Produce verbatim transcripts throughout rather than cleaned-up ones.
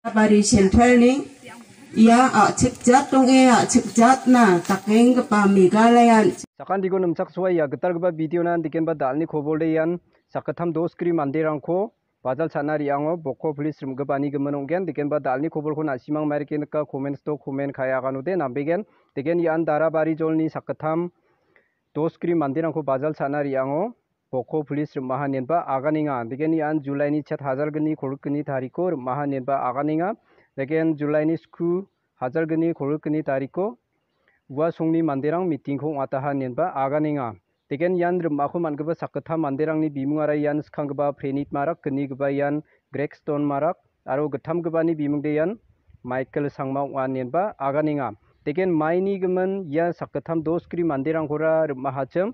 Bari Centralni ia a·chik jat ong·e a·chik jatna dakenggipa Meghalaya an-, Sakantiko nimchaksoa ia gitalgipa videona dikenba dal·ni kobolde ian sakgittam dos gri manderangko bajal cha·na re·ango bokko police rim·gipani gimin ong·gen. Dikenba dal·ni kobolko na·simang mairike nika comments-o comment ka·e aganode nambegen. Deken ian Darabari jolni sakgittam dos gri manderangko bajal cha·na re·ango bokko police rim·aha inenba aganenga. Deken ian July-ni chet hajalgni kolgrikgni tariko rim·aha inenba aganenga. Deken July-ni sku hajalgni kolgrikgni tariko ua songni manderang meeting-ko ong·ataha inenba aganenga. Deken ian rim·ako man·gipa sakgittam manderangni bimungara ian skanggipa Prenit Marak, gnigipa ian Gregstone Marak, aro gittamgipani bimungde ian Michael Sangma ong·a inenba aganenga. Deken maini gimin ia sakgittam dos gri manderangkora rim·ahachim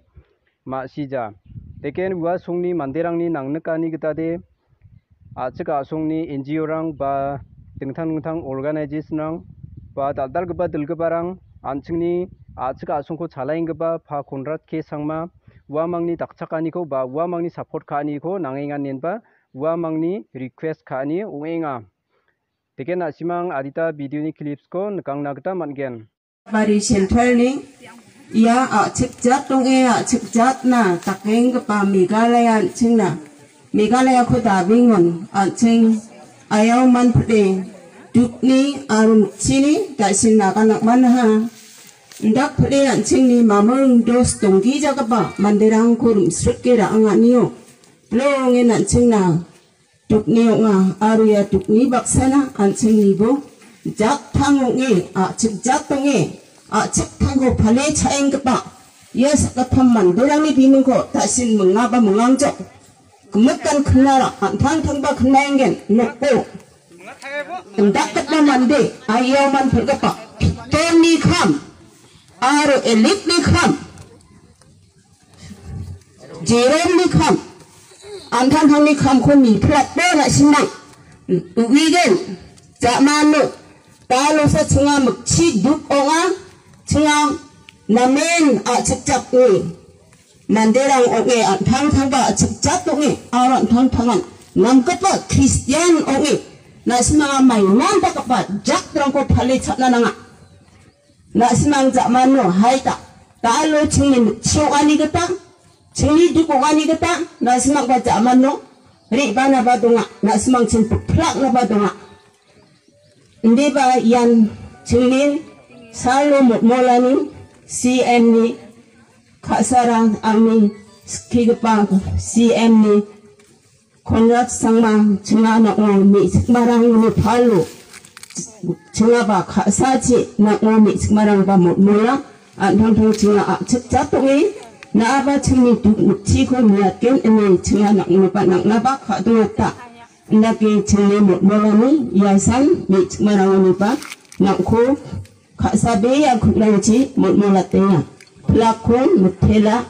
ma·sija. Deken ua songni manderangni nangnikani gitade a·chik a·songni N G O-rang ba dingtang dingtang organization-rang ba dal·dalgipa dilgiparang an·chingni a·chik a·songko chalaenggipa Pa Konrad K Sangma uamangni dakchakaniko ba uamangni support ka·aniko nangenga inenba uamangni request ka·ani ong·enga. Deken na·simang adita videoni clips-ko nikangna gita man·gen. Bari Centralni ia a·chik jat ong·e a·chik jatna dakenggipa Meghalaya an·chingna Meghalayako dabingon an·ching ayau manpide dukni aro mikchini da·sin nagan nang·manaha. Indakpide an·chingni mamung dos donggijagipa manderangko rim·srike ra·anganio bilongen an·chingna dukni ong·a, aro ia dukni baksana an·chingnibo jattang ong·e, a·chik jat ong·e, a·chiktangko pale cha·enggipa ia sakgittam manderangni bimungko ta·sin mingaba mingangjok. Gimikan kinara an·tangtangba kinaengen nokbo indakgipa mande aiaoman pil·gipa Pitorni kam aro Elikni kam Jeremni kam, an·tangtangni kamko niplatba na·simang uigen, ja·mano, dalosa chinga mikchi duk ong·a, chinga namen a·chikjatni manderang ong·e, an·tangtangba a·chikjat ong·e, aro an·tangtangan namgipa Kristian ong·e, na·simanga maiman dakgipa jatrangko pale cha·na nanga. Na·simang ja·mano hai ta, dalo chingni mikchi ong·ani gita, chingni duk ong·ani gita, na·simangba ja·mano re·banaba donga, na·simangchin piplaknaba donga. Indiba ian chingni salo motmolani C M-ni ka·sara angni skigipa C M-ni Konrad Sangma chinga nang·o me·chikmarangni palo chingaba ka·sachi nang·o me·chikmarangba motmola an·tangtang chinga a·chikjat ong·e na·aba chingni duk mikchiko niatgen ine chinga nang·oba nang·naba ka·dongata. Indake chingni motmolani iasan me·chikmarangoniba nang·ko ka·sabea ku·rangchi motmolatenga. Pilakon mitela